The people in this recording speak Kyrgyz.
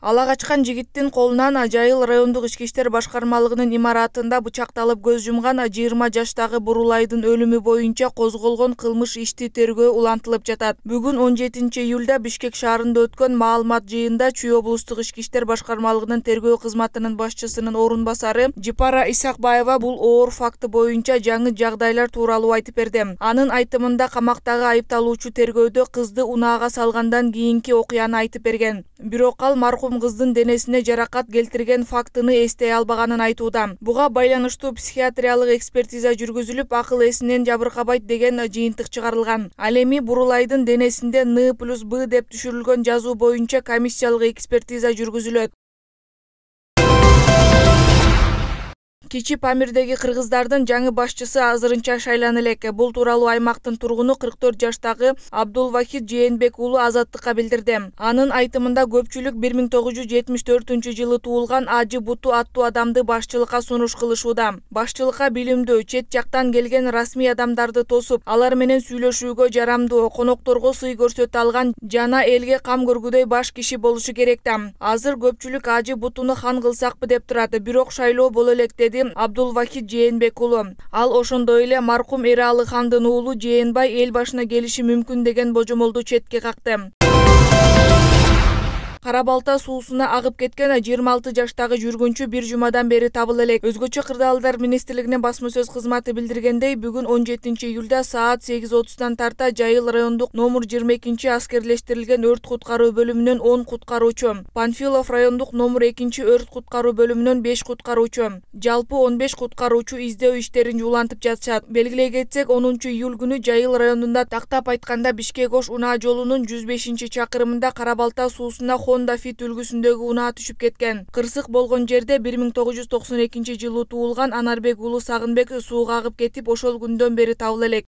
Ала качкан жигиттин колунан Жайыл райондук ички иштер башкармалыгынын имаратында бычакталып көз жумган 20 жаштагы Бурулайдын өлүмү боюнча козголгон кылмыш ишти тергөө улантылып жатат. Бүгүн 17-июлда Бишкек шаарында өткөн маалымат жыйында Чүй облустук ички иштер башкармалыгынын тергөө кызматынын башчысынын орун басары Жипара Исакбаева бул оор факты боюнча жаңы жагдайлар тууралуу айтып берди. Анын айтымында камактагы айыпталуучу тергөөдө кызды унаага салгандан кийинки окуяны айтып берген. Бирок ал маркум кыздын денесине жаракат келтирген фактыны эстей албаганын айтууда. Буга байланыштуу психиатриялык экспертиза жүргүзүлүп, акыл эсинен жабыркабайт деген жыйынтык чыгарылган. Ал эми Бурулайдын денесинде Н+Б деп түшүрүлгөн жазуу боюнча комиссиялык экспертиза жүргүзүлөт. Кичи Памирдеги кыргыздардын жаңы башчысы азырынча шайлана элек. Бул тууралуу аймактын тургуну 44 жаштагы Абдулвахид Жээнбек уулу Азаттыкка билдирди. Анын айтымында көпчүлүк 1974-жылы туулган Ажы Буту аттуу адамды башчылыкка сунуш кылышууда. Башчылыкка билимдүү, чет жактан келген расмий адамдарды тосуп, алар менен сүйлөшүүгө жарамдуу, конокторго сый көрсөтө алган жана элге кам көргүдөй баш киши болушу керек да. Азыр көпчүлүк Ажы Бутуну хан кылсакпы деп турат. Бирок шайлоо боло элек деди Абдулвахид Жээнбек уулу. Ал ошондой эле маркум Эралы хандын уулу Жээнбай эл башына келиши мүмкүн деген божомолду четке какты. Кара Балта суусуна агып кеткен 26 жаштагы жүргүнчү бир жумадан бери табыла элек. Өзгөчө кырдаалдар министрлигинин басма сөз кызматы билдиргендей, бүгүн 17-июлда саат 8:30 тарта Жайыл райондук номер 22 аскерлештирилген өрт куткаруу бөлүмүнөн 10 куткаруучу, Панфилов райондук номер 2 өрт куткаруу бөлүмүнөн 5 куткаруучу, жалпы 15 куткаруучу издөө иштерин жуулантып жатышат. Белгилей кетсек, 10-июль күнү Жайыл районунда тактап айтканда Бишкек-Ош унаа жолунун 105-чакырымында Кара Балта суусуна Honda Fit үлгүсүндөгү унаа түшүп кеткен. Кырсык болгон жерде 1992-жылы туулган Анарбек уулу Сагынбек сууга агып кетип, ошол күндөн бери табыла элек.